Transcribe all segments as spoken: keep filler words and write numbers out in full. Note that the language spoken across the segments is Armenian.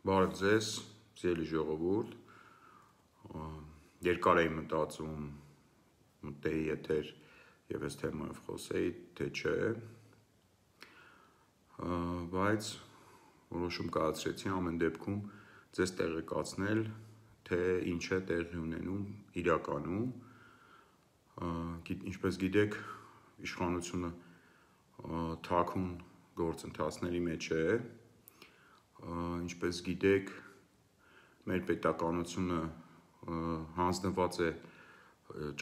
Բարև ձեզ, սիրելի ժողովուրդ, երկար էի մտածում մտեի եթեր և այս թեմայով խոսեի, թե չէ, բայց որոշում կայացրեցի ամեն դեպքում ձեզ տեղեկացնել, թե ինչ է տեղի ունենում իրականում, ինչպես գիտեք, իշխանությունը թաքուն գործընթացների մեջ է, ինչպես գիտեք, մեր պետականությունը հանձնված է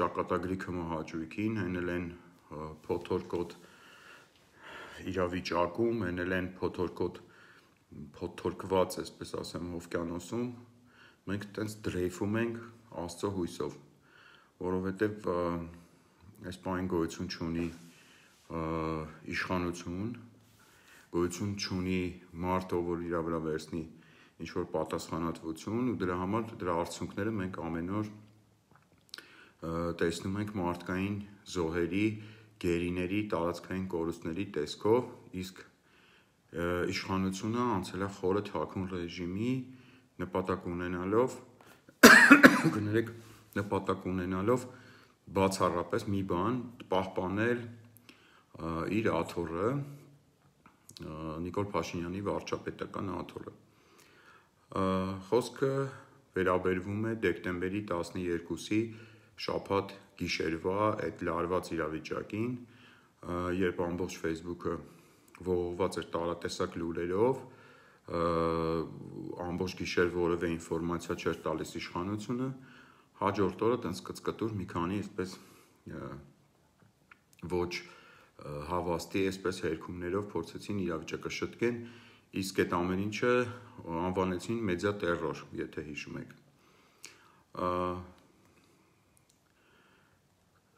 ճակատագրի քմահաճույքին, հենել են փոթորկոտ իրավիճակում, հենել են փոթորկոտ փոթորկված, այսպես ասեմ, օվկիանոսում, մենք տենց դրեյֆում ենք Աստծո հույսով, որովհետև այս պահին գոյություն չունի իշխանություն, գոյություն չունի մարդ, ով որ իր վրա վերցնի ինչ-որ պատասխանատվություն ու դրա համար դրա արդյունքները մենք ամեն օր տեսնում ենք մարդկային զոհերի, գերիների, տարածքային կորուստների տեսքով, իսկ իշխանությունը անցել է խորը թաքուն ռեժիմի նպատակ ունենալով, կներեք, նպատակ ունենալով բացառապես մի բան պահպանել իր աթոռը, Նիկոլ Փաշինյանի վարչապետական աթոռը։ Խոսքը վերաբերվում է դեկտեմբերի տասներկուսի շաբաթ գիշերվա այդ լարված իրավիճակին, երբ ամբողջ Facebook-ը ողողված էր տարատեսակ լուրերով, ամբողջ գիշեր որևէ ինֆորմացիա չէր տալիս իշխանությունը, հաջորդ օրը տենց կծկտուր մի քանի այսպես ոչ հավաստի այսպես հերքումներով փորձեցին իրավիճակը շտկեն, իսկ այդ ամեն ինչը անվանեցին մեդիա տերրոր, եթե հիշում եք։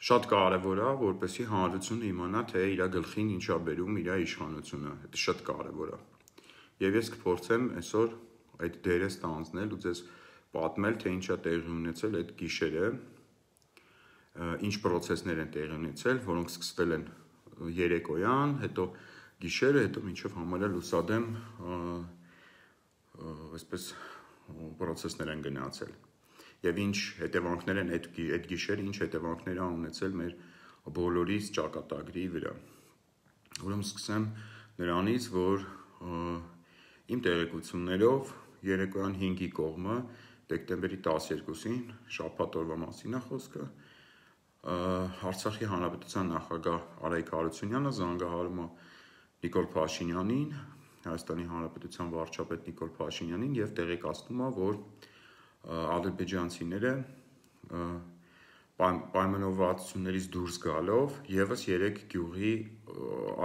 Շատ կարևոր է, որպեսզի հանրությունը իմանա, թե իր գլխին ինչ է բերում իր իշխանությունը, դա շատ կարևոր է։ Եվ ես կփորձեմ այսօր այդ դերը ստանձնել ու ձեզ պատմել, թե ինչ է տեղի ունեցել այդ գիշերը, ինչ պրոցեսներ են տեղի ունեցել, որոնք սկսվել են երեկոյան, հետո գիշերը, հետո մինչև համարյա լուսադեմ այսպես պրոցեսներ են գնացել։ Եվ ինչ հետևանքներ են այդ, այդ գիշերը, ինչ հետևանքներ են ունեցել մեր բոլորիս ճակատագրի վրա։ Ուրեմն սկսեմ նրանից, որ իմ տեղեկություններով երեկոյան հինգի կողմը դեկտեմբերի տասներկուսին շաբաթ օրվա մասին է խոսքը, Արցախի հանրապետության նախագահ Արայիկ Հարությունյանը զանգահարում է Նիկոլ Փաշինյանին, Հայաստանի Հանրապետության վարչապետ Նիկոլ Փաշինյանին եւ տեղեկացնում է, որ ադրբեջանցիները պայմանավորվածություններից դուրս գալով եւս երեք գյուղի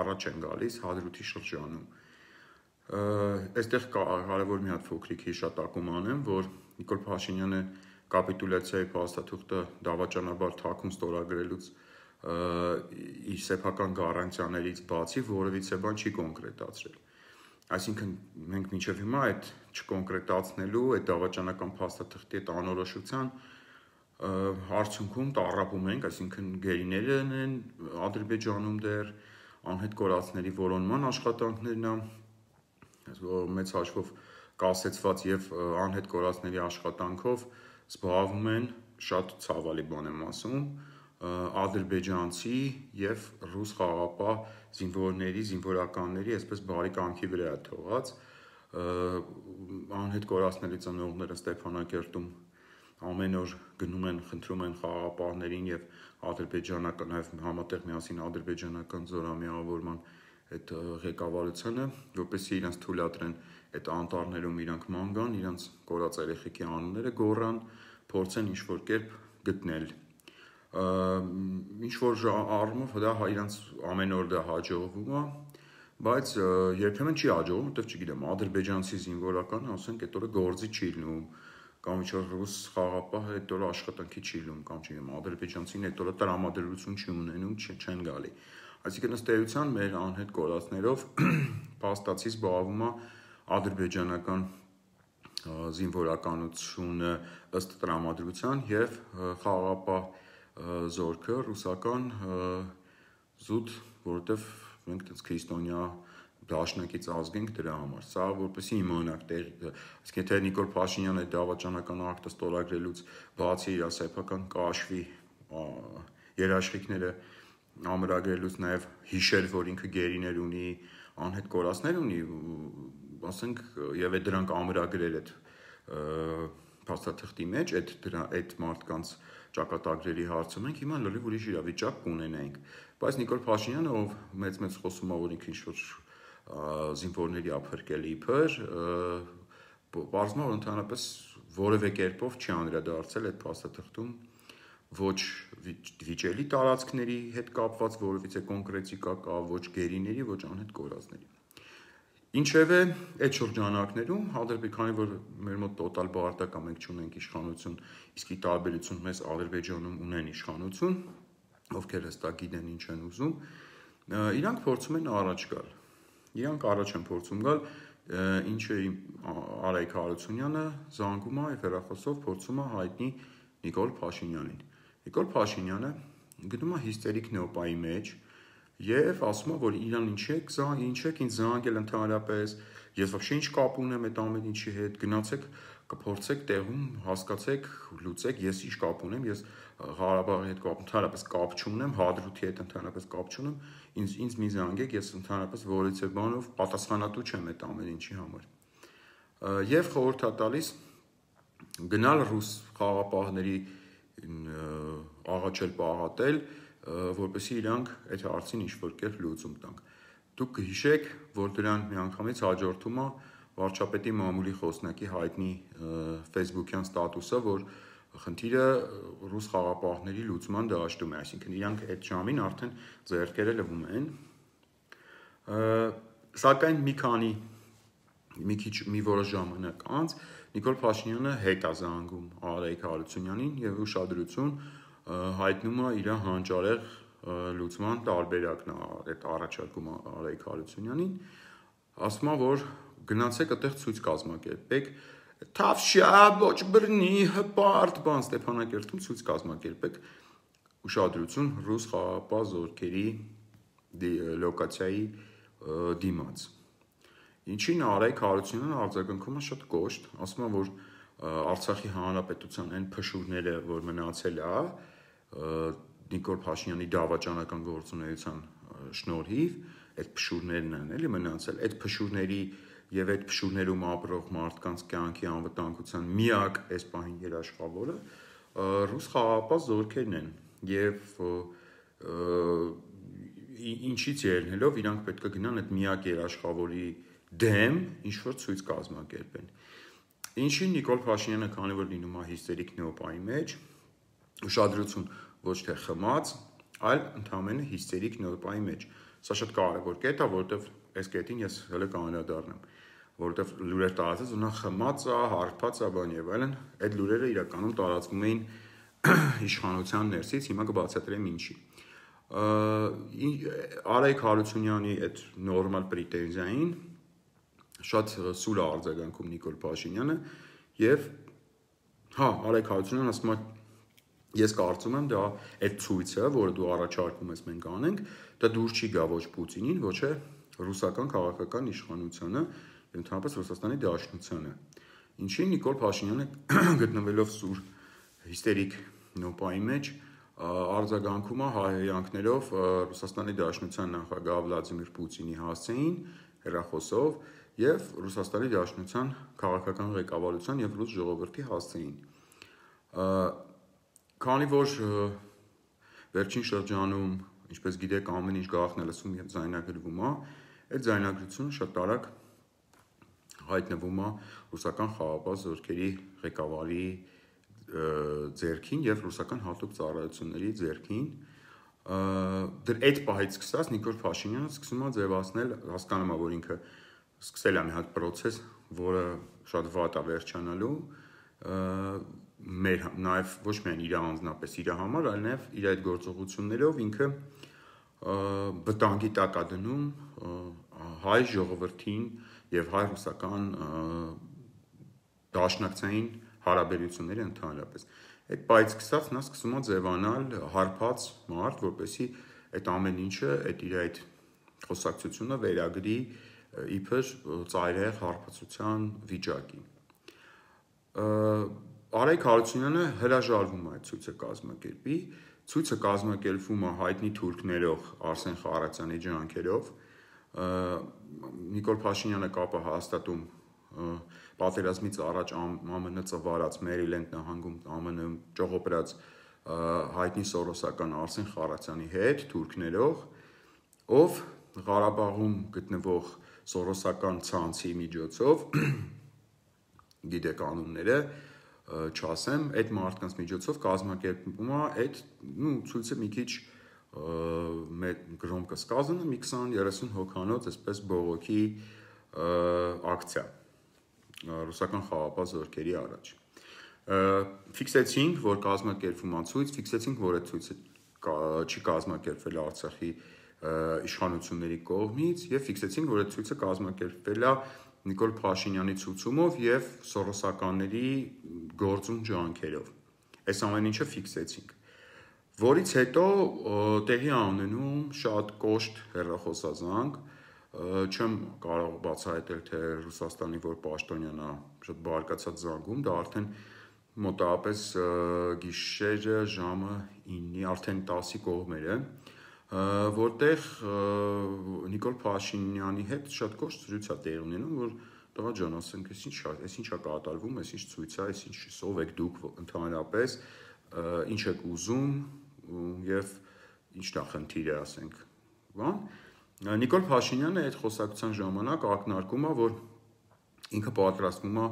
առաջ են գալիս Հադրութի շրջանում։ Այստեղ կարևոր մի հատ փոքրիկ հիշատակում անեմ, որ Նիկոլ Փաշինյանը կապիտուլյացիայի փաստաթուղթը դավաճանաբար թաքուն ստորագրելուց իր սեփական գառանտիաներից բացի որևիցե բան չի կոնկրետացրել։ Այսինքն մենք մինչև հիմա այդ չկոնկրետացնելու, այդ դավաճանական փաստաթղթի այդ անորոշության արդյունքում տառապում ենք, այսինքն գերիները են Ադրբեջանում դեռ անհետ կորածների որոնման աշխատանքներն է, մեծ հաշվով կասեցված եւ անհետ կորածների աշխատանքով զբաղվում են, շատ ցավալի բան եմ ասում, ադրբեջանցի եւ ռուս խաղաղապահ զինվորների, զինվորականների, այսպես բարի կամքի վրա է թողած, անհետ կորածների ծնողները Ստեփանակերտում ամեն օր գնում են, խնդրում են խաղաղապահներին եւ ադրբեջանական, նաեւ համատեղ միասին ադրբեջանական զորամիավորման այդ ղեկավարությանը, որպեսզի իրենց թույլատրեն այդ անտառներում իրանք ման գան, իրանք կորած երեխեքի անունները գոռան, փորձեն ինչ-որ կերպ գտնել։ Ինչ-որ առումով դա իրանք ամեն օր դա հաջողվում է, բայց երբեմն չի հաջողվում, որտեղ չգիտեմ, ադրբեջանցի զինվորականը, ասենք, այդ օրը գործի չի լինում, կամ ինչ-որ ռուս խաղաղապահը այդ օրը աշխատանքի չի լինում, կամ չգիտեմ, ադրբեջանցին այդ օրը տրամադրություն չի ունենում, չեն գալի։ Այսինքն ըստ էության մեր անհետ կորածներով փաստացի զբաղվում է ադրբեջանական զինվորականությունը ըստ տրամադրության եւ խաղաղապահ զորքը ռուսական զուտ, որովհետեւ մենք այդպես քրիստոնյա դաշնակից ազգենք դրա համար։ Սա որպեսզի իմանաք տեղ, իսկ եթե Նիկոլ Փաշինյանը դավաճանական ակտը ստորագրելուց բացի իր սեփական կաշվի երաշխիքները ամրագրելուց նաև հիշեր, որ ինքը գերիներ ունի, անհետ կորածներ ունի, ասենք, եւ այդ դրանք ամրագրել այդ փաստաթղթի մեջ, այդ դրա այդ մարդկանց ճակատագրերի հարցը մենք հիմա լրիվ ուրիշ իրավիճակ կունենայինք, բայց Նիկոլ Փաշինյանը, ով մեծ-մեծ խոսում է, որ ինքը ինչ-որ զինվորների ափրկել իբր, բարձր որ ընդհանրապես որևէ կերպով չի անդրադարձել այդ փաստաթղթում ոչ վիճելի տարածքների հետ կապված որևիցե կոնկրետիկա կա, ոչ գերիների, ոչ անհետ կորածների։ Ինչևէ, այդ շրջանակներում, հանդերձ քանի որ մեր մոտ տոտալ բարտակ է, մենք չունենք իշխանություն, իսկ ի տարբերություն մեզ Ադրբեջանում ունեն իշխանություն, ովքեր հստակ գիտեն ինչ են ուզում, իրանք փորձում են առաջ գալ։ Իրանք առաջ են փորձում գալ, ինչը Արայք Հարությունյանը զանգում է եւ հեռախոսով փորձում է հայտնի Նիկոլ Փաշինյանին։ Նիկոլ Փաշինյանը գնում է հիստերիկ նոպայի մեջ եւ ասում է, որ իրան ինչ եք, ինչ եք ինձ զանգել ընդհանրապես, ես вообще ինչ կապ ունեմ այդ ամեն ինչի հետ, գնացեք կփորձեք տեղում հասկացեք, լուծեք, ես ինչ կապ ունեմ, ես Ղարաբաղի հետ կապ ընդհանրապես կապ չունեմ, Հադրութի հետ ընդհանրապես կապ չունեմ, ինձ ինձ մի զանգեք, ես ընդհանրապես որևիցե բանով պատասխանատու չեմ այդ ամեն ինչի համար։ Եվ խորհուրդ է տալիս գնալ ռուս խաղապահների աղաչել պաղատել, որպեսզի իրանք այդ հարցին ինչ-որ կերպ լուծում տանք։ Դուք կհիշեք, որ դրան միանգամից հաջորդում է վարչապետի մամուլի խոսնակի հայտնի Facebook-յան ստատուսը, որ խնդիրը ռուս խաղապահների լուծման դաշտում է, այսինքն իրանք այդ ժամին արդեն ձեռքերը լվում են։ Սակայն մի քանի մի քիչ մի որոշ ժամանակ անց Նիկոլ Փաշինյանը հետ է զանգում Արայք Հարությունյանին եւ ուշադրություն հայտնում է իր հանճարեղ լուծման տարբերակն է այդ առաջարկում Արայք Հարությունյանին, ասում է, որ գնացեք այդտեղ ցույց կազմակերպեք, թավշյա ոչ բռնի հպարտ բան Ստեփանակերտում ցույց կազմակերպեք, ուշադրություն ռուս խաղապահ զորքերի լոկացիայի դիմաց։ Ինչին Արայք Հարությունյանը արձագանքում է շատ կոշտ, ասում է, որ Արցախի հանրապետության այն փշուրները, որ մնացել է Նիկոլ Փաշինյանի դավաճանական գործունեության շնորհիվ, այդ փշուրներն են էլի մնացել, այդ փշուրների եւ այդ փշուրներում ապրող մարդկանց կյանքի անվտանգության միակ այս պահին երաշխավորը ռուս խաղապահ զորքերն են եւ ինչից ելնելով իրանք պետք է գնան այդ միակ երաշխավորի դեմ ինչ-որ ցույց կազմակերպեն։ Ինչին Նիկոլ Փաշինյանը, քանի որ լինում է հիստերիկ նոպայի մեջ, ուշադրություն ոչ թե խմած, այլ ընդհանրապես հիստերիկ նոպայի մեջ։ Սա շատ կարևոր կետ է, որովհետև այս կետին ես հələ կանրադառնամ, որովհետև լուրեր տարածած ու նա խմած է, հարբած է, բան եւ այլն, այդ լուրերը իրականում տարածվում էին իշխանության ներսից, հիմա կբացատրեմ ինչի։ Արայք Հարությունյանի այդ նորմալ պրետենզիային շատ սուր է արձագանքում Նիկոլ Փաշինյանը եւ հա Արայք Հարությունյանը ասում է ես կարծում եմ դա այդ ցույցը, որը դու առաջարկում ես մենք անենք, դա դուր չի գա ոչ Պուտինին, ոչ է ռուսական քաղաքական իշխանությանը եւ ընդհանրապես Ռուսաստանի Դաշնությանը։ Ինչին Նիկոլ Փաշինյանը գտնվելով սուր հիստերիկ նոպայի մեջ արձագանքում է հայհոյանքներով Ռուսաստանի Դաշնության նախագահ Վլադիմիր Պուտինի հասցեին հեռախոսով եւ Ռուսաստանի Դաշնության քաղաքական ղեկավարության եւ ռուս ժողովրդի հասցեին։ Քանի որ վերջին շրջանում, ինչպես գիտեք, ամեն ինչ գաղտնի լսում եւ ձայնագրվում է, այդ ձայնագրությունը շատ արագ հայտնվում է ռուսական խաղապահ զորքերի ղեկավարի ձեռքին եւ ռուսական հատուկ ծառայությունների ձեռքին։ Դեռ այդ պահից սկսած Նիկոլ Փաշինյանը սկսում է ձևացնել, հասկանում է, որ ինքը սկսել է մի հատ process, որը շատ վատ է վերջանալու, մեր նաեւ ոչ միայն իր անձնապես իր համար, այլ նաեւ իր այդ գործողություններով ինքը վտանգի տակ է դնում հայ ժողովրդին եւ հայ-ռուսական դաշնակցային հարաբերությունները ընդհանրապես։ Այդ պայից սկսած նա սկսում է ձևանալ հարբած մարդ, որպեսզի այդ ամեն ինչը, այդ իր այդ խոսակցությունը վերագրի իբր ծայրահեղ հարբեցության վիճակի։ Արայք Հարությունյանը հրաժարվում է այդ ցույցը կազմակերպի, ցույցը կազմակերպվում է հայտնի թուրք ներող Արսեն Խառատյանի ջանքերով, Նիկոլ Փաշինյանը կապը հաստատում պատերազմից առաջ ԱՄՆ ծվարած Մերիլենդ նահանգում ԱՄՆ ճողոպրած հայտնի սորոսական Արսեն Խառատյանի հետ թուրքներով, ով Ղարաբաղում գտնվող սորոսական ցանցի միջոցով գիտեք անունները չասեմ, այդ մարդկանց միջոցով կազմակերպվում է այդ ցույցը մի քիչ գրոմկը սկազանը մի քսան երեսուն հոգանոց այսպես բողոքի ակցիա ռուսական խաղապահ զորքերի առաջ։ Ֆիքսեցինք, որ կազմակերպվում է ցույց, ֆիքսեցինք, որ այդ ցույցը չի կազմակերպվել Արցախի իշխանությունների կողմից եւ ֆիքսեցինք, որ այդ ցույցը կազմակերպվել է Նիկոլ Փաշինյանի ցուցումով եւ սորոսականների գործուն ջանքերով։ Այս ամեն ինչը ֆիքսեցինք։ Որից հետո տեղի ունենում շատ կոշտ հեռախոսազանգ, չեմ կարող բացահայտել, թե Ռուսաստանի որ պաշտոնյան է շատ բարկացած զանգում, դա արդեն մոտավորապես գիշերը ժամը իննի, արդեն տասի կողմեր է, որտեղ Նիկոլ Փաշինյանի հետ շատ կոշտ զրույց է տեղի ունենում, որ տղա ջան, ասենք, այս ինչ, այս ինչ է կատարվում, այս ինչ ցույց է, այս ինչ ով եք դուք ընդհանրապես, ինչ եք ուզում եւ ինչն է խնդիրը, ասենք, բան։ Նիկոլ Փաշինյանը այդ խոսակցության ժամանակ ակնարկում է, որ ինքը պատրաստվում է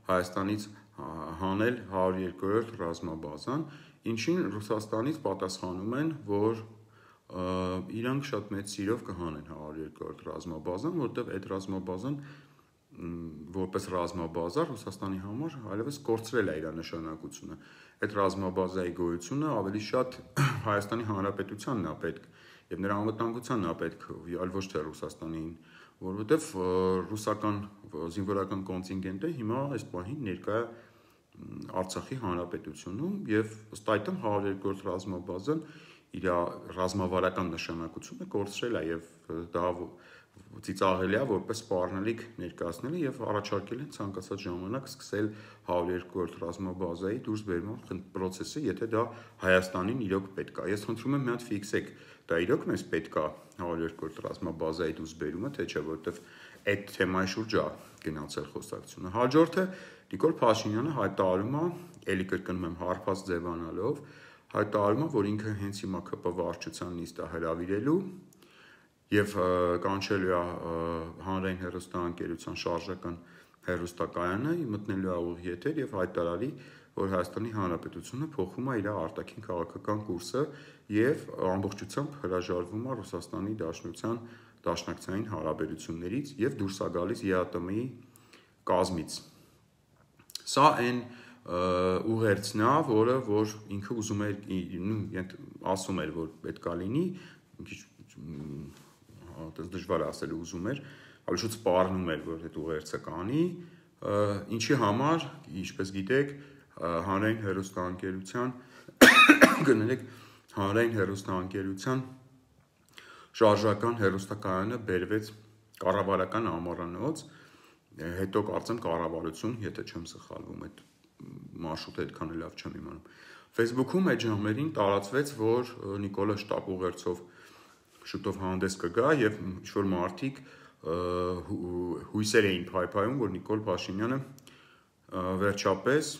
Հայաստանից հանել հարյուր երկրորդ ռազմաբազան, ինչին Ռուսաստանից պատասխանում են, որ իրանք շատ մեծ սիրով կհանեն հարյուր երկրորդ ռազմաբազան, որտեղ այդ ռազմաբազան որպես ռազմաբազա Ռուսաստանի համար այլևս կորցրել է իր նշանակությունը։ Այդ ռազմաբազայի գոյությունը ավելի շատ Հայաստանի Հանրապետությանն է պետք եւ նրա անվտանգությանն է պետք, այլ ոչ թե Ռուսաստանին, որովհետեւ ռուսական զինվորական կոնտինգենտը հիմա այս պահին ներկա է Արցախի Հանրապետությունում եւ ըստ այդմ հարյուր երկրորդ ռազմաբազան իր ռազմավարական նշանակությունը կորցրել է եւ դա ծիծաղելի է որպես սպառնալիք ներկայացնել եւ առաջարկել են ցանկացած ժամանակ սկսել հարյուր երկրորդ ռազմաբազայի դուրս բերման process-ը, եթե դա Հայաստանին իրոք պետք է։ Ես խնդրում եմ մի հատ ֆիքսեք, դա իրոք մեզ պետք է հարյուր երկրորդ ռազմաբազայի դուրս բերումը, թե չէ, որովհետեւ այդ թեմայի շուրջ է գնացել խոսակցությունը։ Հաջորդը Նիկոլ Փաշինյանը հայտարարում է, ելի կրկնում եմ, հարբած ձևանալով, հայտարարում է, որ ինքը հենց հիմա ԿՊ վարչության նիստ է հրավիրելու եւ կանչելու է հանրային հեռուստաընկերության շարժական հեռուստակայանը, մտնելու է ուղիղ եթեր եւ հայտարարի, որ Հայաստանի Հանրապետությունը փոխում է իր արտաքին քաղաքական կուրսը եւ ամբողջությամբ հրաժարվում է Ռուսաստանի Դաշնության դաշնակցային հարաբերություններից եւ դուրս է գալիս ԵԱՏՄ-ի կազմից։ Սա այն ուղերձն է, որը որ ինքը ուզում էր, ասում էր, որ պետք է լինի, մի քիչ այդպես դժվար է ասել ուզում էր, ավելի շուտ սպառնում էր, որ այդ ուղերձը կանի, ինչի համար, ինչպես գիտեք, հանրային հեռուստաընկերության գներեք հանրային հեռուստաընկերության շարժական հեռուստակայանը բերվեց կառավարական ամառանոց, հետո կարծեմ կառավարություն, եթե չեմ սխալվում, այդ մարշրուտը այդքան լավ չեմ իմանում։ Facebook-ում այդ ժամերին տարածվեց, որ Նիկոլը շտապ ուղերձով շուտով հանդես կգա եւ ինչ-որ մարդիկ հույսեր էին փայփայում, որ Նիկոլ Փաշինյանը վերջապես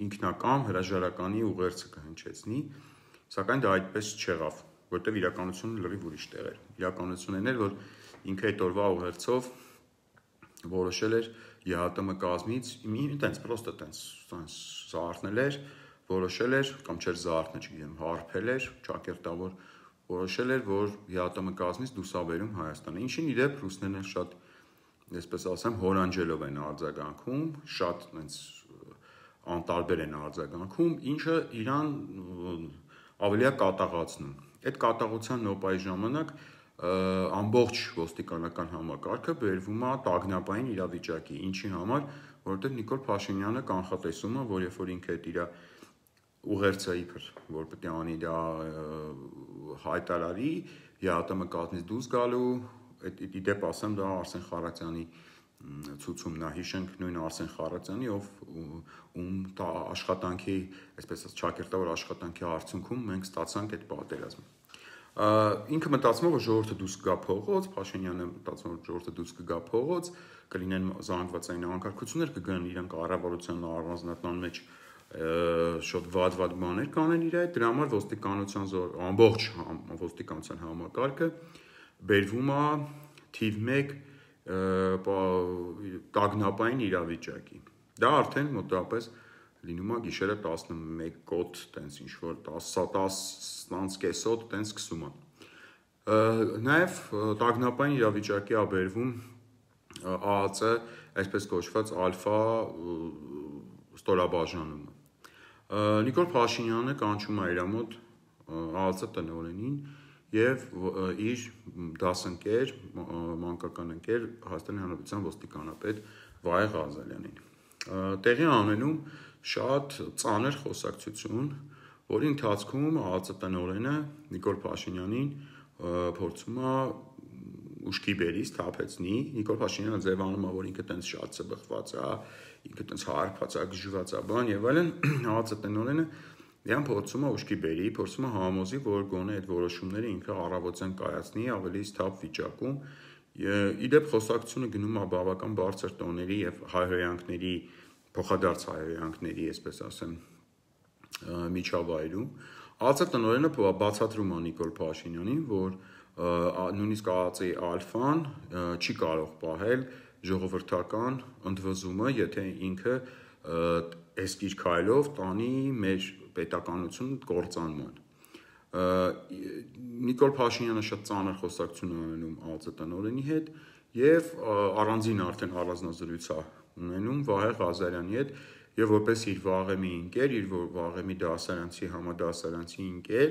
ինքնակամ հրաժարականի ուղերձը կհնչեցնի, սակայն դա այդպես չեղավ, որտեղ իրականությունը լրիվ ուրիշ տեղ էր։ Իրականությունն էր, որ ինքը այդ օրվա ուղերձով որոշել էր ԵԱՏՄ կազմից, ինտենց պրոստը տենց զարթնել էր, որոշել էր, կամ չէր զարթնել, չգիտեմ, հարբել էր, ճակերտավոր որոշել էր, որ ԵԱՏՄ կազմից դուսաբերում Հայաստանը, ինչին իդեպ ռուսներն էլ շատ, այսպես ասեմ, հորանջելով են արձագանքում, շատ այնց անտարբեր են արձագանքում, ինչը իրան ավելի է կատաղացնում։ Այդ կատաղության նոպայի ժամանակ ամբողջ ոստիկանական համակարգը բերվում է տագնապային իրավիճակի, ինչի համար, որովհետև Նիկոլ Փաշինյանը կանխատեսում է, որ երբ որ ինքը այդ իր ուղերձը իբր, որ պետք է անի դա հայտարարի, ԵԱՏՄ կազմից դուրս գալու իդեպ ասեմ, դա Արսեն Խարատյանի ցուցումն է, հիշենք նույն Արսեն Խարատյանի, ով ում դա աշխատանքի, այսպես ասած, ճակերտավոր աշխատանքի արդյունքում մենք ստացանք այդ պատերազմը։ Ինքը մտածում է, որ ժողովուրդը դուրս կգա փողոց, Փաշինյանը մտածում է, որ ժողովուրդը դուրս կգա փողոց, կլինեն զանգվածային անկարգություններ, կգան իրանք կառավարության առանձնատան մեջ շատ վատ-վատ բաներ կանեն իր այդ, դրա համար ոստիկանության ամբողջ ոստիկանության համակարգը բերվում է թիվ մեկ տագնապային իրավիճակի։ Դա արդեն մոտավորապես լինում է գիշերը տասնմեկ կոտ, տենց ինչ-որ տասը կեսոտ, տենց սկսում է։ Նաև տագնապային իրավիճակի է բերվում ԱԱԾ, այսպես կոչված ալֆա ստորաբաժանումը։ Նիկոլ Փաշինյանը կանչում է իր մոտ ԱԱԾ տնօրենին և իր դասընկեր, մանկական ընկեր Հայաստանի Հանրապետության ոստիկանապետ Վահե Ղազարյանին։ Տեղի անենում շատ ծանր խոսակցություն, որի ընթացքում ԱԱԾ տնօրենը Նիկոլ Փաշինյանին փորձում է ուշքի բերից թափեցնի, Նիկոլ Փաշինյանը ձևանում է, որ ինքը տենց շատ սբղված է, ինքը տենց հարբած է, գժված է, բան եւ այլն, ԱԱԾ տնօրենը Դրան փորձում է ուշքի բերի, փորձում է համոզի, որ գոնե այդ որոշումները ինքը առավոտյան կայացնի ավելի սթափ վիճակում։ Իդեպ խոսակցությունը գնում է բավական բարձր տոների եւ հայհոյանքների, փոխադարձ հայհոյանքների, այսպես ասեմ, միջավայրում։ ԱԱԾ տնօրենը բացատրում է Նիկոլ Փաշինյանին, որ նույնիսկ ԱԱԾ-ի ալֆան չի կարող պահել ժողովրդական ընդվզումը, եթե ինքը այս իր քայլով տանի մեր պետականություն կործանման։ Նիկոլ Փաշինյանը շատ ծանր խոսակցություն է ունենում ԱԱԾ տնօրենի հետ եւ առանձին արդեն առանձնազրույց է ունենում Վահե Ղազարյանի հետ եւ որպես իր վաղեմի ընկեր, իր վաղեմի դասարանցի, համադասարանցի ընկեր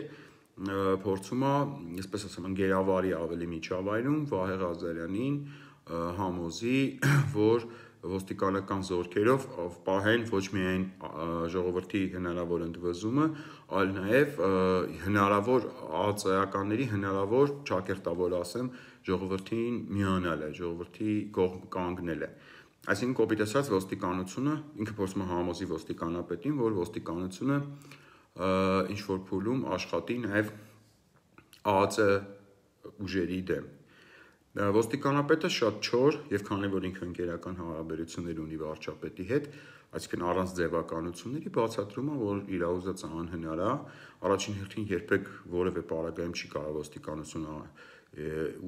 փորձում է, այսպես ասեմ, ընկերավարի ավելի միջավայրում Վահե Ղազարյանին համոզի, որ ոստիկանական զորքերով պահեն ոչ միայն ժողովրդի հնարավոր ընդվզումը, այլ նաև հնարավոր ԱԱԾ-ականների հնարավոր ճակերտավոր ասեմ ժողովրդին միանալը, ժողովրդի կողմ կանգնելը։ Այսինքն կոպիտ ասած ոստիկանությունը ինքը փորձում է համոզի ոստիկանապետին, որ ոստիկանությունը ինչ որ փուլում աշխատի նաև ԱԱԾ ուժերի դեմ։ Ոստիկանապետը շատ չոր եւ քանի որ ինքը ընկերական հարաբերություններ ունի վարչապետի հետ, այսինքն առանց ձևականությունների բացատրում է, որ իր ուզածը անհնար է, առաջին հերթին երբեք որևէ պարագայում չի կարող ոստիկանությունը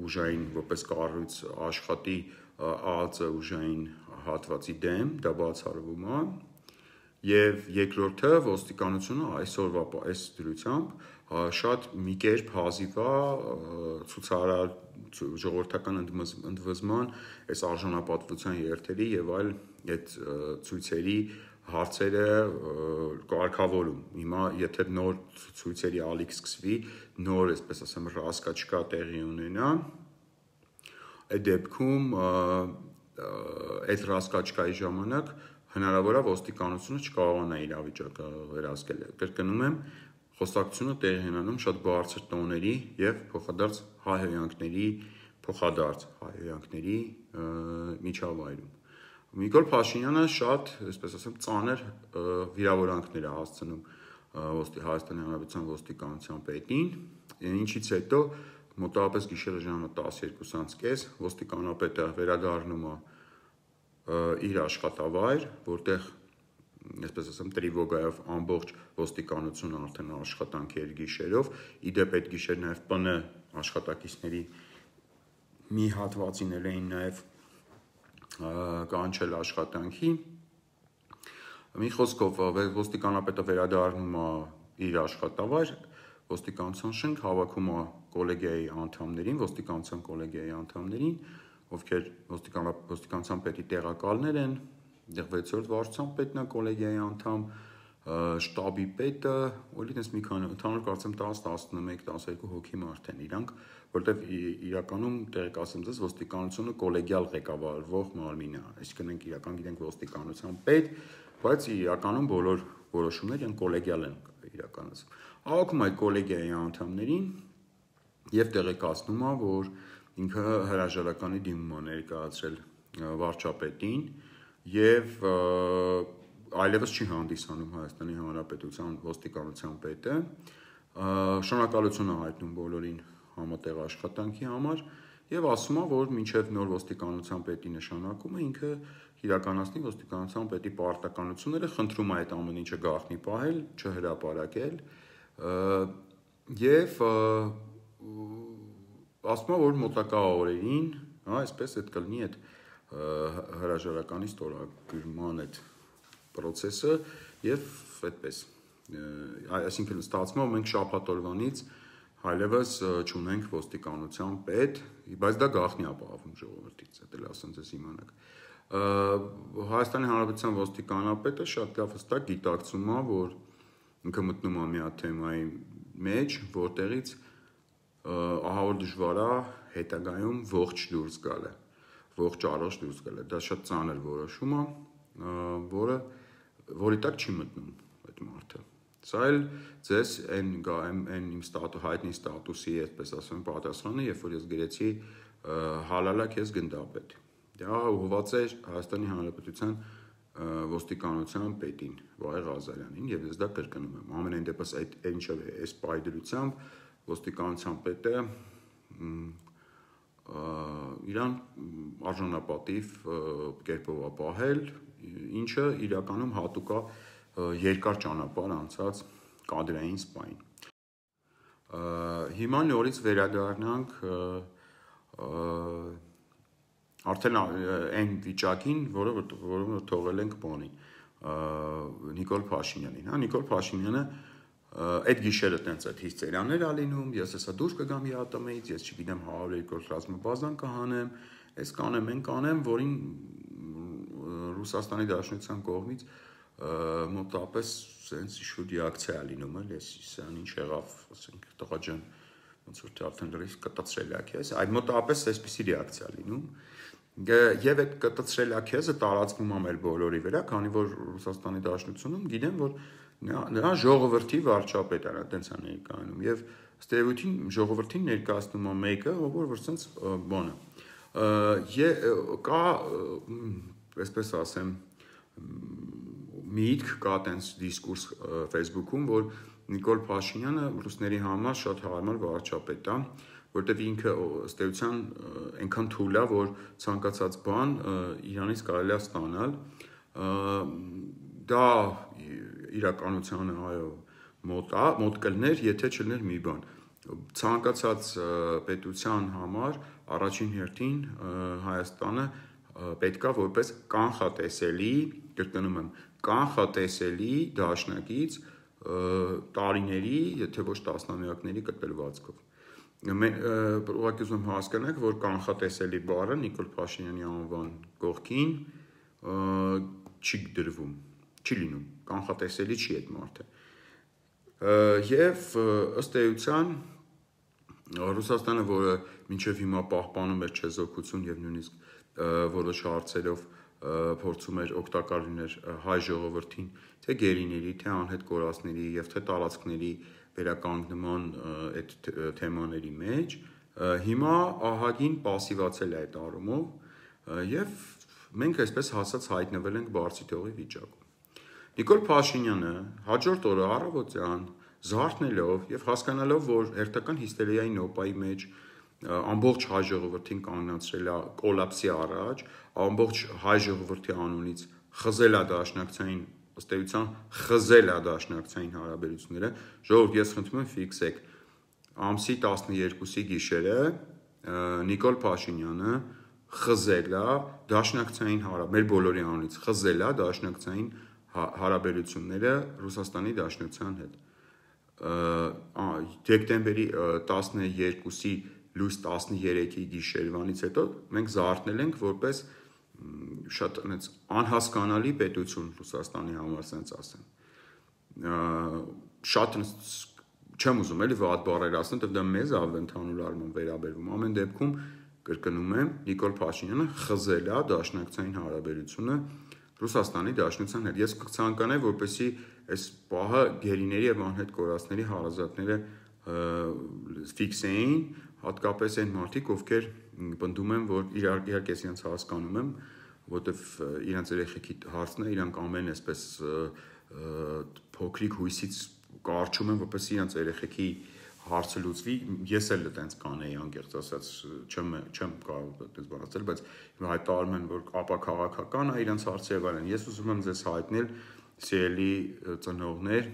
ուժային որպես կառույց աշխատի ԱԱԾ ուժային հատվածի դեմ, դա բացառվում է, եւ երկրորդը ոստիկանությունը այսօրվա այս դրությամբ շատ մի կերպ հազիվ է ցուցարար ժողովրդական ընդվզման, այս արժանապատվության երթերի եւ այլ այդ ցույցերի հարցերը կարգավորում։ Հիմա եթե նոր ցույցերի ալիք սկսվի, նոր, այսպես ասեմ, ռասկա տեղի ունենա, այդ դեպքում այդ ռասկաչկայի ժամանակ հնարավոր է ոստիկանությունը չկարողանա իրավիճակը վերահսկել։ Կրկնում եմ, խոսակցությունը տեղի ունենում շատ բարձր տոների եւ փոխադարձ հայհոյանքների, փոխադարձ հայհոյանքների միջավայրում։ Նիկոլ Փաշինյանը շատ, այսպես ասեմ, ծանր վիրավորանքներ է հասցնում Հայաստանի Հանրապետության ոստիկանության պետին, ինչից հետո մոտավորապես գիշերը ժամը տասներկուսը կես ոստիկանապետը վերադառնում է իր աշխատավայր, որտեղ, այսպես ասեմ, տրիվոգայով ամբողջ ոստիկանությունը արդեն աշխատանքի էր գիշերով, իդեպ այդ գիշեր նաև ՊՆ աշխատակիցների մի հատվածին էին նաև կանչել աշխատանքի։ Մի խոսքով ոստիկանապետը վերադառնում է իր աշխատավայր, ոստիկանության շենք հավաքում է կոլեգիայի անդամներին, ոստիկանության կոլեգիայի անդամներին, ովքեր ոստիկանության պետի տեղակալներ են, դեռ վեցերորդ վարչության պետն է կոլեգիայի անդամ, շտաբի պետը, օրինակ մի քանի ընդհանուր կարծեմ տասը, տասնմեկ, տասներկու հոգի մարդ են իրանք, որտեղ իրականում տեղեկ ասեմ ձեզ ոստիկանությունը կոլեգիալ ղեկավարվող մարմին է, այսինքն ենք իրական գիտենք ոստիկանության պետ, բայց իրականում բոլոր որոշումները իրենք կոլեգիալ են իրականացում։ Հավաքում այդ կոլեգիայի անդամներին եւ տեղեկացնում է, որ ինքը հրաժարականի դիմում է ներկայացրել վարչապետին եւ այլևս չի հանդիսանում Հայաստանի Հանրապետության ոստիկանության պետը, շնորհակալություն է հայտնում բոլորին համատեղ աշխատանքի համար եւ ասում է, որ մինչեւ նոր ոստիկանության պետի նշանակումը ինքը իրականացնի ոստիկանության պետի պարտականությունները, խնդրում է այդ ամեն ինչը գաղտնի պահել, չհրապարակել եւ ասում է, որ մոտակա օրերին, հա, այսպես այդ կլինի այդ հրաժարականի ստորագրման այդ process-ը եւ այդպես այսինքն ստացվում է մենք շաբաթ օրվանից այլևս չունենք ոստիկանության պետ, բայց դա գաղտնի է պահվում ժողովրդից, դա էլ ասեմ ձեզ իմանաք։ Հայաստանի Հանրապետության ոստիկանապետը շատ լավ հստակ գիտակցում է, որ ինքը մտնում է մի հատ թեմայի մեջ, որտեղից ահա որ դժվար է հետագայում ողջ դուրս գալը, ողջ առողջ դուրս գալը, դա շատ ծանր որոշում է, որը որի տակ չի մտնում այդ մարդը։ Սա էլ ձեզ այն այն իմ ստատուս հայտնի ստատուսի, այսպես ասեմ, պատասխանը, երբ որ ես գրեցի հալալա քեզ գնդապետ։ Դա ուղղված է Հայաստանի Հանրապետության ոստիկանության պետին Վահե Ղազարյանին եւ ես դա կրկնում եմ։ Ամենայն դեպս այդ ինչը այս պայդրությամբ ոստիկանության պետը իրան արժանապատիվ կերպով է պահել, ինչը իրականում հատուկ է երկար ճանապարհ անցած կադրային սպային։ Հիմա նորից վերադառնանք արդեն այն վիճակին, որը որը թողել ենք բանի Նիկոլ Փաշինյանին, հա Նիկոլ Փաշինյանը այդ գիշերը տենց այդ հիսτερիաներ ա լինում, ես հեսա դուրս կգամ ԵԱՏՄ-ից, ես չգիտեմ հարյուր երկրորդ ռազմաբազան կհանեմ, այս կանեմ, այն կանեմ, որին Ռուսաստանի Դաշնության կողմից մոտավորապես sense իշու ռեակցիա ա լինում, էլ ես սան ինչ եղավ, ասենք, տղա ջան, ոնց որ թե արդեն լրիվ կտացրելակ ես, այդ մոտավորապես այսպիսի ռեակցիա լինում, եւ այդ կտացրելակ եզը տարածվում է մեր բոլորի վրա, քանի որ Ռուսաստանի Դաշնությունում գիտեմ, որ նրա ժողովրդի վարչապետն է, այդպես է ներկայանում, եւ ստերեոտիպին ժողովրդին ներկայացնում է մեկը, որ որ sense բանը, կա, այսպես ասեմ, միտք կա տենց դիսկուրս Facebook-ում, որ Նիկոլ Փաշինյանը ռուսների համար շատ հարմար վարչապետ է, որտեղ ինքը ըստ էության այնքան թույլ է, որ ցանկացած բան Իրանից կարելի է ստանալ, դա իրականությանը այո մոտ է, մոտ կլներ, եթե չլներ մի բան։ Ցանկացած պետության համար առաջին հերթին Հայաստանը պետքա որպես կանխատեսելի, կրկնում եմ, կանխատեսելի դաշնակից տարիների, եթե ոչ տասնամյակների կտրվածքով։ Ուղղակի ուզում եմ հասկանաք, որ կանխատեսելի բառը Նիկոլ Փաշինյանի անվան կողքին չի դրվում, չի լինում, կանխատեսելի չի այդ մարդը։ Եվ ըստ էության Ռուսաստանը, որը մինչև հիմա պահպանում էր չեզոքություն եւ նույնիսկ որոշ հարցերով փորձում էր օգտակար լինել հայ ժողովրդին, թե գերիների, թե անհետ կորածների եւ թե տարածքների վերականգնման այդ թեմաների մեջ, հիմա ահագին պասիվացել է այդ առումով եւ մենք այսպես հասած հայտնվել ենք բարձի թողի վիճակում։ Նիկոլ Փաշինյանը հաջորդ օրը առավոտյան զարթնելով եւ հասկանալով, որ հերթական հիստերիայի նոպայի մեջ ամբողջ հայ ժողովրդին կանգնացրել է կոլապսի առաջ, ամբողջ հայ ժողովրդի անունից խզել է դաշնակցային ըստ էության խզել է դաշնակցային հարաբերությունները, ժողովուրդ ես խնդրում եմ ֆիքսեք, ամսի տասներկուսի գիշերը Նիկոլ Փաշինյանը խզել է դաշնակցային հարաբերությունները, մեր բոլորի անունից խզել է դաշնակցային հարաբերությունները Ռուսաստանի Դաշնության հետ։ Դեկտեմբերի տասներկուսի լույս տասներեքի գիշերվանից հետո մենք զարթնել ենք որպես շատ անհասկանալի պետություն Ռուսաստանի համար, ասենց ասեմ։ Շատ չեմ ուզում էլի վատ բառեր ասեմ, դա մեզ ավ ընդհանուր առմամբ վերաբերվում։ Ամեն դեպքում կրկնում եմ, Նիկոլ Փաշինյանը խզել է դաշնակցային հարաբերությունը Ռուսաստանի Դաշնության հետ։ Ես կցանկանայի, որպեսզի այս պահը գերիների եւ անհետ կորածների հարազատները ֆիքսեին, հատկապես այն մարդիկ, ովքեր պնդում եմ, որ իհարկե ես իրենց հասկանում եմ, որտեվ իրենց երեխեքի հարցն է, իրանք ամեն այսպես փոքրիկ հույսից կարճում են, որպես իրենց երեխեքի հարցը լուծվի, ես էլ այդպես կանեի անկեղծ ասած, չեմ չեմ կարող այդպես բան ասել, բայց հայտարարում են, որ ապա քաղաքական է իրենց հարցը եւ այլն։ Ես ուզում եմ ձեզ հայտնել, սիրելի ծնողներ,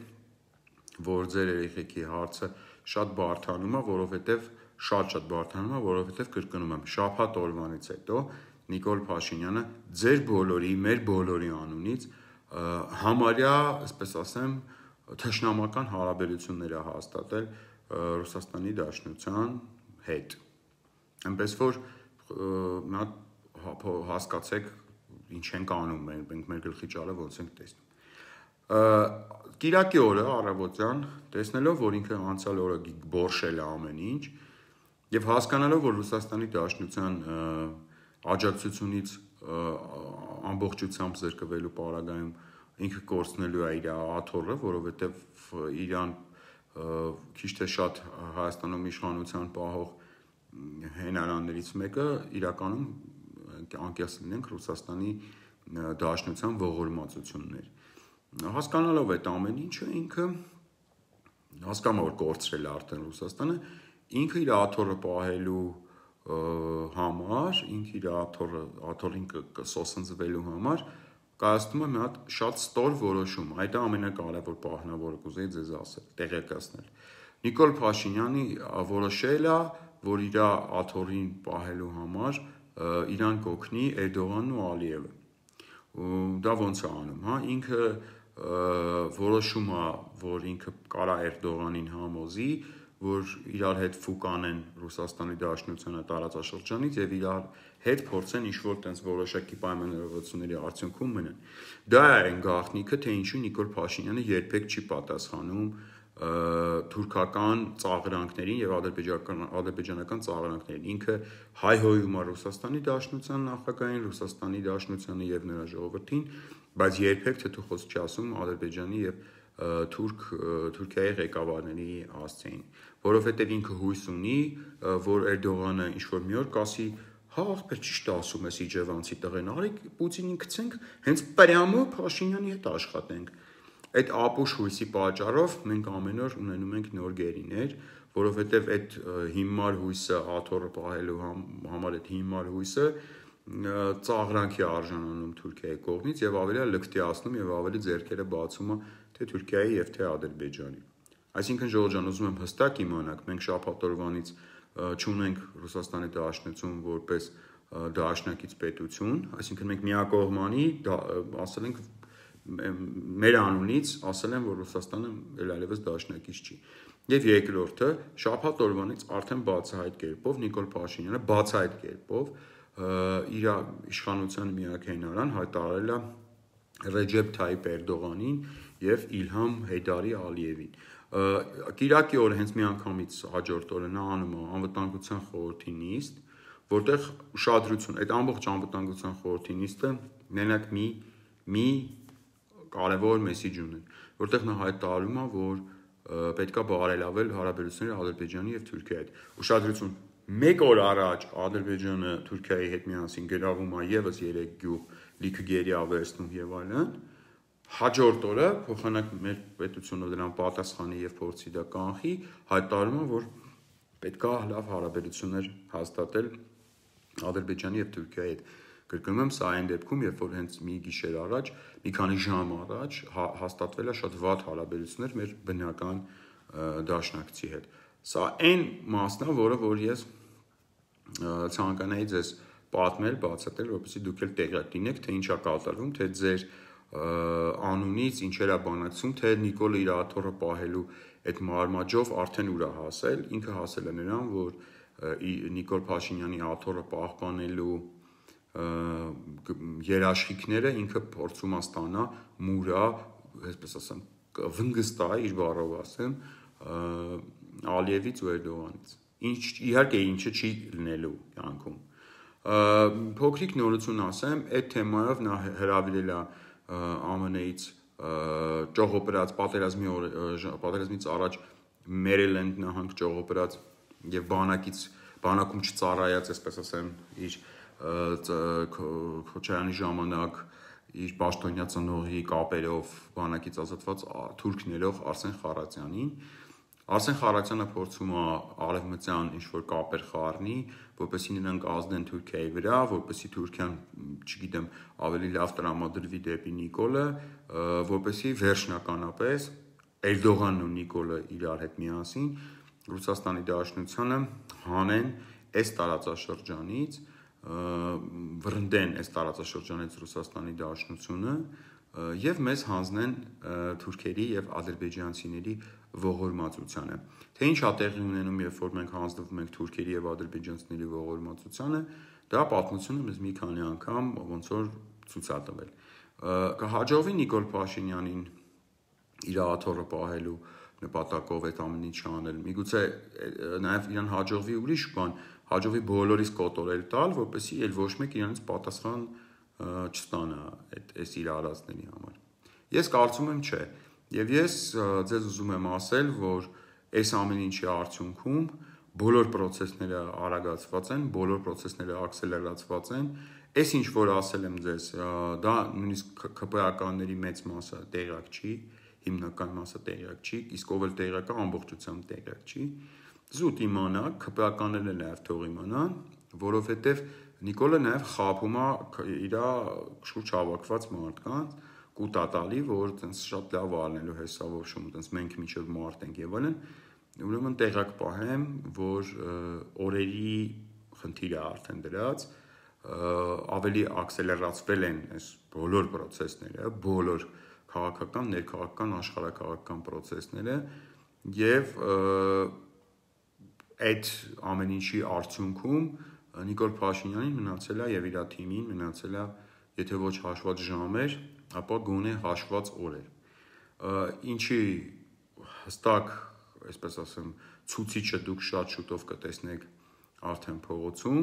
որ ձեր երեխեքի հարցը շատ բարդանում է, որովհետեւ շատ-շատ բարդանում է, որովհետեւ կրկնում եմ, շաբաթ օրվանից հետո Նիկոլ Փաշինյանը ձեր բոլորի, մեր բոլորի անունից համարյա, այսպես ասեմ, թշնամական հարաբերություններ է հաստատել Ռուսաստանի Դաշնության հետ։ Այնպես որ նա հասկացեք ինչ ենք անում, մենք մեր գլխի ճարը ոնց ենք տեսնում։ Կիրակի օրը առավոտյան տեսնելով, որ ինքը անցյալ օրը բորշել է ամեն ինչ եւ հասկանալով, որ Ռուսաստանի Դաշնության աջակցությունից ամբողջությամբ զրկվելու պարագայում ինքը կորցնելու է իր աթոռը, որովհետեւ իրան քիչ թե շատ Հայաստանում իշխանության պահող հենարաններից մեկը իրականում անկեղծ լինենք Ռուսաստանի Դաշնության ողորմածություններ։ Հասկանալով այդ ամեն ինչը ինքը հասկանում որ կորցրել է արդեն Ռուսաստանը, ինքը իր աթոռը պահելու համար, ինքը իր աթոռը աթոռին կսոսնձվելու համար կայացնում է մի հատ շատ ստոր որոշում։ Այդ ամենակարևոր պահն է, որը կուզեի ձեզ ասել, տեղեկացնել։ Նիկոլ Փաշինյանի որոշել է, որ իր աթոռին պահելու համար իրան կօգնի Էրդողանն ու Ալիևը։ Դա ոնց է անում, հա, ինքը որոշում է, որ ինքը կարա Էրդողանին համոզի, որ իրար հետ ֆուկանեն Ռուսաստանի Դաշնությանը տարածաշրջանից եւ իրար հետ փորձեն ինչ-որ տենց որոշակի պայմանավորվածությունների արդյունքում մնան։ Դա է այն գաղտնիքը, թե ինչու Նիկոլ Փաշինյանը երբեք չի պատասխանում թուրքական ծաղրանքներին եւ ադրբեջանական ծաղրանքներին։ Ինքը հայհոյում է Ռուսաստանի Դաշնության նախագահին, Ռուսաստանի Դաշնությանը եւ նրա ժողովրդին, բայց երբեք թեթուխոս չի ասում Ադրբեջանի եւ թուրք Թուրքիայի ղեկավարների հասցեին, որովհետեւ ինքը հույս ունի, որ Էրդողանը ինչ-որ մի օր կասի, հա, ախպեր ճիշտ ասում ես իջևանցի տղեն, արեք Պուտինին գցենք, հենց պրյամո Փաշինյանի հետ աշխատենք։ Այդ ապուշ հույսի պատճառով մենք ամեն օր ունենում ենք նոր գերիներ, որովհետեւ այդ հիմար հույսը աթոռը պահելու համար այդ հիմար հույսը ծաղրանքի արժանանում Թուրքիայի կողմից եւ ավելի լկտիացնում եւ ավելի ձեռքերը բացում է թե Թուրքիայի եւ թե Ադրբեջանի։ Այսինքն Ժողովուրդ ջան, ուզում եմ հստակ իմանաք, մենք շաբաթ օրվանից չունենք Ռուսաստանի Դաշնություն որպես դաշնակից պետություն, այսինքն մենք միակողմանի ասել ենք մեր անունից ասել են, որ Ռուսաստանը այլևս դաշնակից չի։ Եվ երկրորդը, շաբաթ օրվանից արդեն բացահայտ կերպով Նիկոլ Փաշինյանը բացահայտ կերպով իր իշխանության միակ հենարան հայտարարել է Ռեջեփ Թայիփ Էրդողանին եւ Իլհամ Հեյդարի Ալիևին։ Կիրակի օրը հենց միանգամից հաջորդ օրը նա անում է անվտանգության խորհրդի նիստ, որտեղ ուշադրություն, այդ ամբողջ անվտանգության խորհրդի նիստը մենակ մի մի կարևոր մեսիջ ունի, որտեղ նա հայտարարում է, որ պետք է բարելավել հարաբերությունները Ադրբեջանի եւ Թուրքիայի հետ։ Ուշադրություն, մեկ օր առաջ Ադրբեջանը Թուրքիայի հետ միասին գրավում է եւս երեք գյուղ, լիքը գերի ավերցնում եւ այլն։ Հաջորդ օրը փոխանակ մեր պետությունը դրան պատասխանի եւ փորձի դա կանխի, հայտարարում է, որ պետք է լավ հարաբերություններ հաստատել Ադրբեջանի եւ Թուրքիայի հետ։ Կրկնում եմ, սա այն դեպքում, երբ որ հենց մի գիշեր առաջ, մի քանի ժամ առաջ հաստատվել է շատ վատ հարաբերություններ մեր բնական դաշնակցի հետ։ Սա այն մասն է, որը որ ես ցանկանայի ձեզ պատմել, բացատրել, որպեսզի դուք էլ տեղյակ լինեք, թե ինչ է կատարվում, թե ձեր անունից ինչեր է բանակցում, թե Նիկոլը իր աթոռը պահելու այդ մարմաճով արդեն ուր է հասել, ինքը հասել է նրան, որ Նիկոլ Փաշինյանի աթոռը պահպանելու երաշխիքները ինքը փորձում է ստանա մուրա, այսպես ասեմ, վնգստա իր բառով ասեմ, Ալիևից ու Էրդողանից։ Ինչ իհարկե ինչը չի լինելու կյանքում։ Փոքրիկ նորություն ասեմ, այդ թեմայով նա հրավիրել է ԱՄՆ -ից ճողոպրած պատերազմի պատերազմից առաջ Մերիլենդ նահանգ ճողոպրած եւ բանակից բանակում չծառայած, այսպես ասեմ, իր Քոչարյանի ժամանակ իր պաշտոնյա ծնողի կապերով բանակից ազատված թուրք ներող Արսեն Խառատյանին։ Արսեն Խառատյանը փորձում է արևմտյան ինչ-որ կապեր խառնի, որպեսզի նրանք ազդեն Թուրքիայի վրա, որպեսզի Թուրքիան, չգիտեմ, ավելի լավ տրամադրվի դեպի Նիկոլը, որպեսզի վերջնականապես Էրդողանն ու Նիկոլը իրար հետ միասին Ռուսաստանի Դաշնությանը հանեն այս տարածաշրջանից, վռնդեն այս տարածաշրջանից Ռուսաստանի Դաշնությունը եւ մեզ հանձնեն թուրքերի եւ ադրբեջանցիների ողորմածությանը։ Թե ինչ է տեղի ունենում, երբ որ մենք հանձնվում ենք թուրքերի եւ ադրբեջանցիների ողորմածությանը, դա պատմությունը մեզ մի քանի անգամ ոնց որ ցույց է տվել։ Կհաջողվի Նիկոլ Փաշինյանին իր աթոռը պահելու նպատակով այդ ամեն ինչը անել։ Միգուցե նաեւ իրան հաջողվի ուրիշ բան, հաջողվի բոլորիս կոտորել տալ, որպեսզի այլ ոչ մեկ իրանից պատասխան չստանա այդ այս իր արածների համար։ Ես կարծում եմ չէ։ Եվ ես ձեզ ուզում եմ ասել, որ այս ամեն ինչի արդյունքում բոլոր process-ները արագացված են, բոլոր process-ները ակսելերացված են։ Այս ինչ որ ասել եմ ձեզ, դա նույնիսկ ԿՊԱ-ականների մեծ մասը տեղյակ չի, հիմնական մասը տեղյակ չի, իսկ ով էլ տեղյակ է, ամբողջությամբ տեղյակ չի։ Զուտ իմանաք, ԿՊԱ-ականներն էլ նաև թող իմանան, որովհետև Նիկոլը նաև խաբում է իր շուրջ հավաքված մարդկանց, կուտատալի, որ տենց շատ լավ ալնելու հեսավով շում, տենց մենք միջև մարդ ենք եւ այլն, ուրեմն տեղակ պահեմ, որ օրերի խնդիրը արդեն դրած, ավելի ակսելերացվել են այս բոլոր process-ները, բոլոր քաղաքական, ներքաղաքական, աշխարհաքաղաքական process-ները եւ այդ ամեն ինչի արդյունքում Նիկոլ Փաշինյանին մնացել է եւ իր թիմին մնացել է, եթե ոչ հաշված ժամեր, ապա գոնե հաշված օրեր։ Ինչի հստակ, այսպես ասեմ, ցուցիչը դուք շատ շուտով կտեսնեք արդեն փողոցում,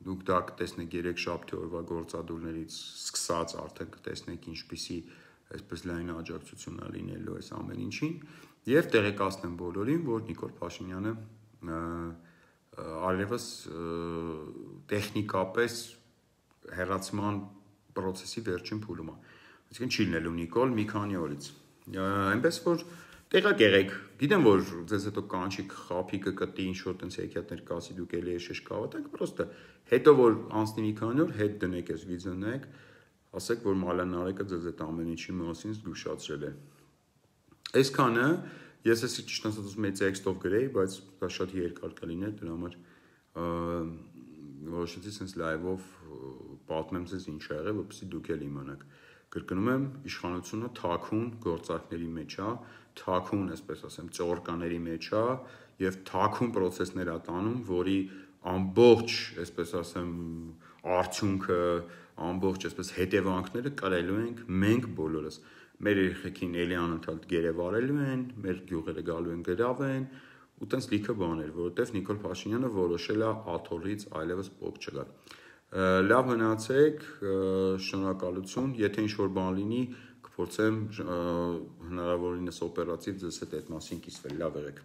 դուք դա կտեսնեք երեքշաբթի օրվա գործադուլներից սկսած արդեն կտեսնեք ինչպիսի այսպես լայն աջակցություն է լինելու այս ամեն ինչին եւ տեղեկացնեմ բոլորին, որ Նիկոլ Փաշինյանը արևս տեխնիկապես հեռացման process-ի վերջին փուլում է։ Այսինքն չի լինելու Նիկոլ մի քանի օրից։ Այնպես որ տեղակ եղեք, գիտեմ որ ձեզ հետո կանչիկ խափիկը կտի ինչ որ տենց հեքիաթներ կասի, դուք էլի էշեշ կհավատաք, պրոստը հետո որ անցնի մի քանի օր, հետ դնեք այս վիդեոն նայեք, ասեք որ Մալան Նարեկը ձեզ այդ ամեն ինչի մասին զգուշացրել է։ Այսքանը ես էսի ճիշտ ասած մեծ տեքստով գրեի, բայց դա շատ երկար կլիներ, դրա համար որոշեցի sense live-ով պատմեմ ձեզ ինչ ա եղել, որպեսզի դուք էլ իմանաք։ Կրկնում եմ, իշխանությունը թաքուն գործարքների մեջ է, թաքուն, այսպես ասեմ, ծորկաների մեջ է եւ թաքուն process-ներ է տանում, որի ամբողջ, այսպես ասեմ, արդյունքը, ամբողջ, այսպես հետևանքները կրելու ենք մենք բոլորս։ Մեր երեխեքին էլի անընդհատ գերեվարելու են, մեր գյուղերը գալու են գրավեն, ու տենց լիքը բաներ, որովհետև Նիկոլ Փաշինյանը որոշել է աթոռից այլևս պոկ չգալ։ Լավ մնացեք, շնորհակալություն, եթե ինչ-որ բան լինի, կփորձեմ հնարավորինս օպերատիվ ձեզ հետ այդ մասին կիսվել, լավ եղեք։